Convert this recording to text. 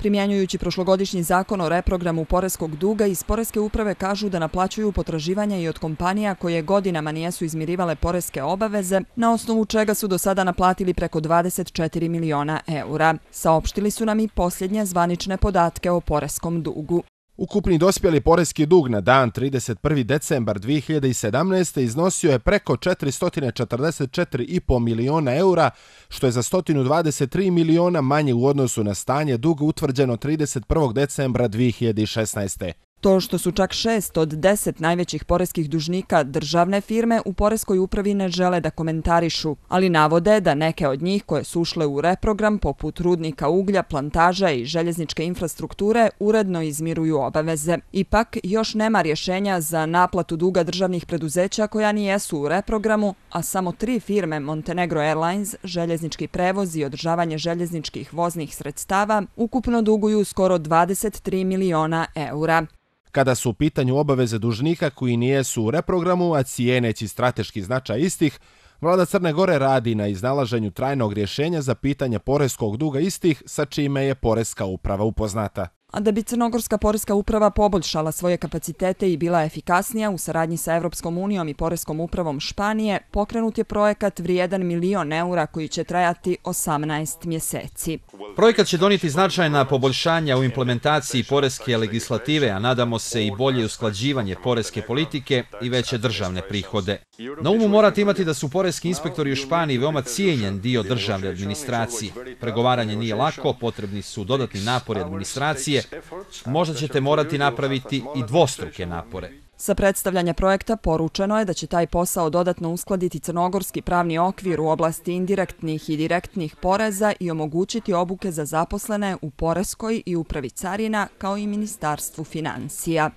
Primjenjujući prošlogodišnji zakon o reprogramu poreskog duga, iz Poreske uprave kažu da naplaćuju potraživanja i od kompanija koje godinama nijesu izmirivale poreske obaveze, na osnovu čega su do sada naplatili preko 24 miliona eura. Saopštili su nam i posljednje zvanične podatke o poreskom dugu. Ukupni dospjeli poreski dug na dan 31. decembar 2017. iznosio je preko 444,5 miliona eura, što je za 123 miliona manje u odnosu na stanje duga utvrđeno 31. decembra 2016. To što su čak 6 od 10 najvećih poreskih dužnika državne firme u Poreskoj upravi ne žele da komentarišu, ali navode da neke od njih koje su ušle u reprogram, poput rudnika uglja, plantaža i željezničke infrastrukture, uredno izmiruju obaveze. Ipak, još nema rješenja za naplatu duga državnih preduzeća koja nijesu u reprogramu, a samo 3 firme Montenegro Airlines, željeznički prevoz i održavanje željezničkih voznih sredstava ukupno duguju skoro 23 miliona eura. Kada su u pitanju obaveze dužnika koji nijesu u reprogramu, a cijeneći strateški značaj istih, vlada Crne Gore radi na iznalaženju trajnog rješenja za pitanje poreskog duga istih, sa čime je Poreska uprava upoznata. A da bi Crnogorska poreska uprava poboljšala svoje kapacitete i bila efikasnija, u saradnji sa Evropskom unijom i Poreskom upravom Španije, pokrenut je projekat vrijedan milion eura koji će trajati 18 mjeseci. Projekat će donijeti značajna poboljšanja u implementaciji poreske legislative, a nadamo se i bolje usklađivanje poreske politike i veće državne prihode. Na umu morate imati da su poreski inspektori u Španiji veoma cijenjen dio državne administracije. Pregovaranje nije lako, potrebni su dodatni napori administracije. Možda ćete morati napraviti i dvostruke napore. Sa predstavljanja projekta poručeno je da će taj posao dodatno uskladiti crnogorski pravni okvir u oblasti indirektnih i direktnih poreza i omogućiti obuke za zaposlene u Poreskoj i upravi carina kao i Ministarstvu financija.